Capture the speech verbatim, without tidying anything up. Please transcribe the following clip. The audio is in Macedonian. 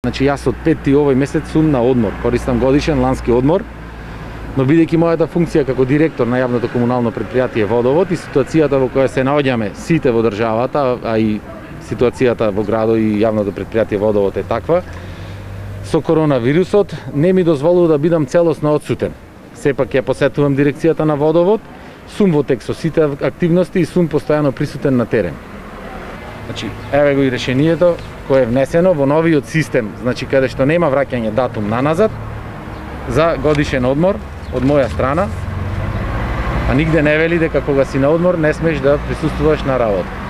Значи јас од петти овој месец сум на одмор, користам годишен лански одмор, но бидејќи мојата функција како директор на јавното комунално предпријатие Водовод и ситуацијата во која се наоѓаме сите во државата, а и ситуацијата во градот и јавното предпријатие Водовод е таква, со коронавирусот не ми дозволува да бидам целосно отсутен. Сепак ја посетувам дирекцијата на Водовод, сум во тек со сите активности и сум постојано присутен на терен. Значи, еве го и решението кое е внесено во новиот систем, значи каде што нема враќање датум наназад за годишен одмор од моја страна, а нигде не вели дека кога си на одмор не смеш да присуствуваш на работа.